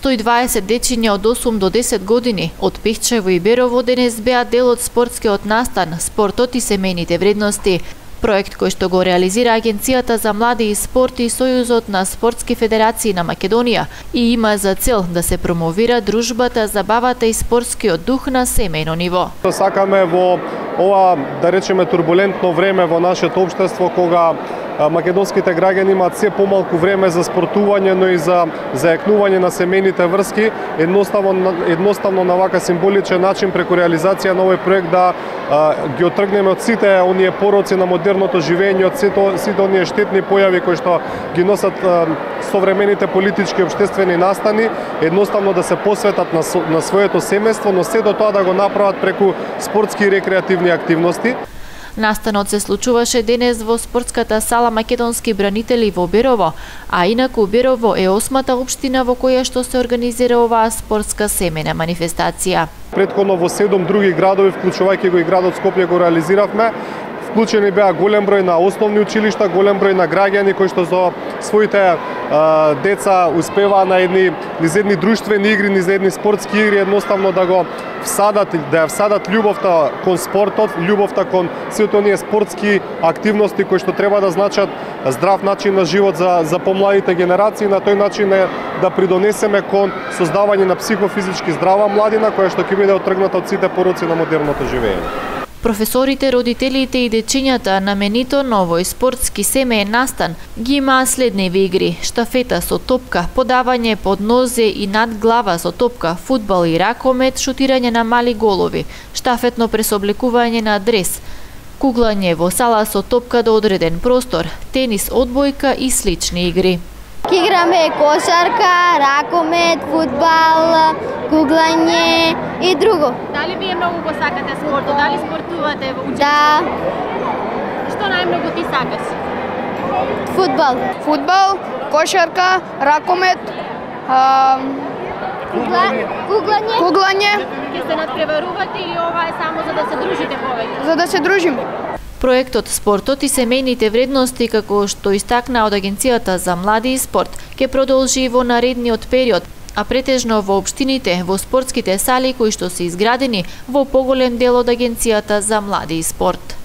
120 дечиња од 8 до 10 години од Пехчево и Берово денес беа дел од спортскиот настан "Спортот и семејните вредности", проект кој што го реализира Агенцијата за млади и спорт и Сојузот на спортски федерации на Македонија и има за цел да се промовира дружбата, забавата и спортскиот дух на семејно ниво. Сакаме во ова, да речеме, турбулентно време во нашето општество, кога македонските граѓани имаат се помалку време за спортување, но и за зајакнување на семејните врски, едноставно на вака символичен начин преку реализација на овој проект да ги отргнеме од сите оние пороци на модерното живење, од сите оние штетни појави кои што ги носат современите политички и општествени настани, едноставно да се посветат на своето семејство, но се до тоа да го направат преку спортски и рекреативни активности. Настанот се случуваше денес во спортската сала Македонски бранители во Берово, а инаку Берово е 8-та општина во која што се организира оваа спортска семејна манифестација. Претходно во 7 други градови, вклучувајќи го и градот Скопје, го реализиравме. Вклучени беа голем број на основни училишта, голем број на граѓани кои што за своите деца успеваа на низ едни друштвени игри, низ едни спортски игри, едноставно да ја всадат љубовта кон спортот, љубовта кон сите оние спортски активности кои што треба да значат здрав начин на живот за помладите генерации, на тој начин да придонесеме кон создавање на психофизички здрава младина која што ќе биде отргната од сите пороци на модерното живење. Професорите, родителите и дечињата на менито на овој спортски семејен настан ги имаа следниви игри: штафета со топка, подавање под нозе и над глава со топка, фудбал и ракомет, шутирање на мали голови, штафетно пресоблекување на дрес, куглање во сала со топка до одреден простор, тенис, одбојка и слични игри. Играме кошарка, ракомет, фудбал, куглање и друго. Дали вие многу го сакате спортот? Дали спортувате во училиште? Да. Што најмногу ти сакаш? Фудбал. Фудбал, кошарка, ракомет, куглање. Ќе се надпреварувате или ова е само за да се дружите повеќе? За да се дружиме. Проектот "Спортот и семејните вредности", како што истакна од Агенцијата за млади и спорт, ќе продолжи во наредниот период, а претежно во општините, во спортските сали кои што се изградени во поголем дел од Агенцијата за млади и спорт.